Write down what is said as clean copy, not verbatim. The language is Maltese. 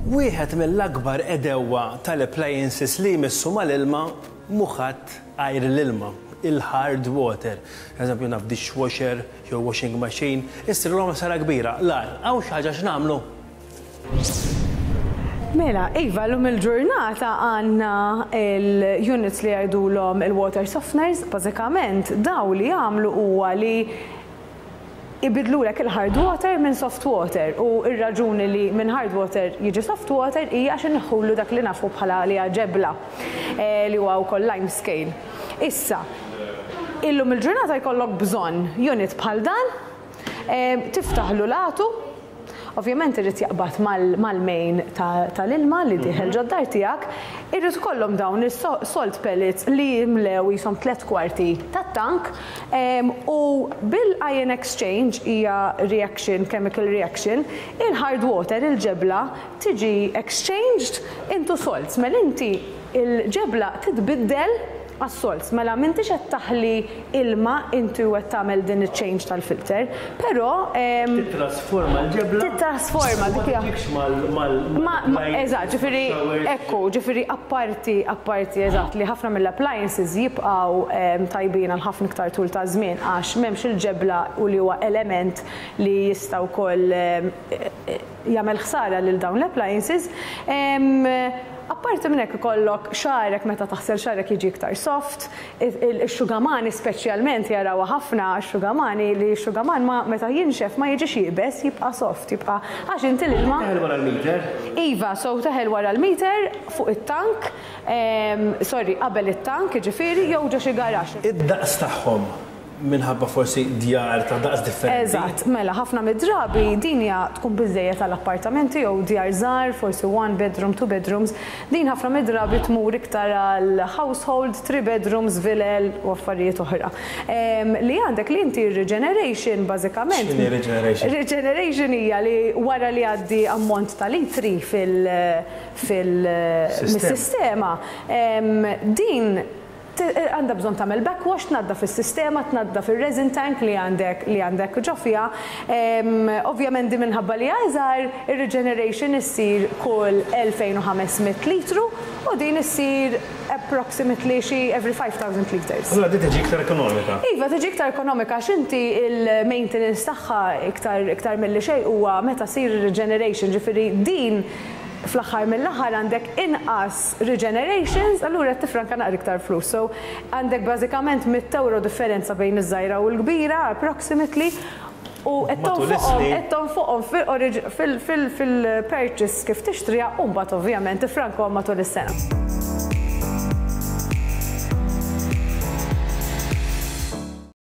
Wieħed mill-akbar għedewwa tal-appliances li jmissu mal-ilma mhu ħadd għajr l-ilma, il-hard water. Eżempju naf dishwasher jew washing machine, issirlhom ħsara kbira. L-agħar, hawn xi ħaġa x'nagħmlu? Mela, iva, llum il-ġurnata għandna l-units li jgħidulhom il-water softeners, bażikament dawn li jagħmlu huwa li ibiddlulek il-hard water minn soft water u r-raġuni li minn hard water jiġi soft water hija għax inneħħulu dak li nafu bħala li hija ġebla li huwa wkoll lime scale. Issa, illum il-ġurnata jkollok bżonn unit bħal dan, tiftaħlu l-għatu, Ovvjament irid jaqbad mal-main tal-ilma li dieħel ġod-dar tiegħek, irid ikollhom dawn is-salt pellets li jimlew qishom tlett kwarti tat-tank u bil-ion exchange hija reaction, chemical reaction, il-hard water, il-ġebla, tiġi exchanged into salts. Mela inti l-ġebla titbiddel għas-salts. Mela m'intix qed taħli ilma inti u qed tagħmel din iċ-change tal-filter, però. Tittrasforma l-ġebla. Tittrasforma dik hija. Ma tiġikx mal. Eżatt, ġifieri ekku, ġifieri apparti, apparti eżatt li ħafna mill-appliances jibqgħu tajbin għal ħafna iktar tul ta' żmien għax m'hemmx il-ġebla u li huwa element li jista' wkoll jagħmel ħsara lil dawn l-appliances. Apparti minn hekk ikollok xagħrek meta taħsel xagħrek jiġi iktar soft, ix-xugamani speċjalment jarawha ħafna x-xugamani li x-xugaman ma meta jinxef ma jiġix iebes jibqa' soft, jibqa' għax inti l-ilma. Teħel wara l-meter? Iva, so teħel wara l-meter fuq it-tank, sorry qabel it-tank jiġifieri jew ġo xi garaxx. Id-daqs tagħhom Minħabba forsi djar ta' daqs differenti. Eżatt, mela ħafna mid-drabi din hija tkun biżżejjed għal appartamenti jew djar żgħar, forsi one bedroom, two bedrooms. Din ħafna mid-drabi tmur iktar għal household, three bedrooms, vilel u affarijiet oħra. Li għandek li inti r-regeneration bażikament. X'inhi regeneration? Regeneration hija li wara li jgħaddi ammont ta' litri fil fil mis-sistema, din Għandha bżonn tagħmel backwash, tnaddaf is-sistema, tnaddaf ir-resin tank li għandek li għandek ġo fiha. Ovvjament din minħabba li hija iżgħar, ir-regeneration issir kull 2,500 litru u din issir approximately xi every 5,000 litres. Allura din tiġi iktar ekonomika? Iva, tiġi iktar ekonomika għax inti l-maintenance tagħha iktar iktar milli xejn huwa meta ssir ir-regeneration, ġifieri din fl-aħħar mill-aħħar għandek inqas regenerations, allura qed tiffranka naqra iktar flus. So għandek bażikament 100 ewro differenza bejn iż-żgħira u l-kbira approximately u qed tonfoqhom qed tonfoqhom fil-purchase kif tixtriha u mbagħad ovvjament tiffrankahom matul is-sena.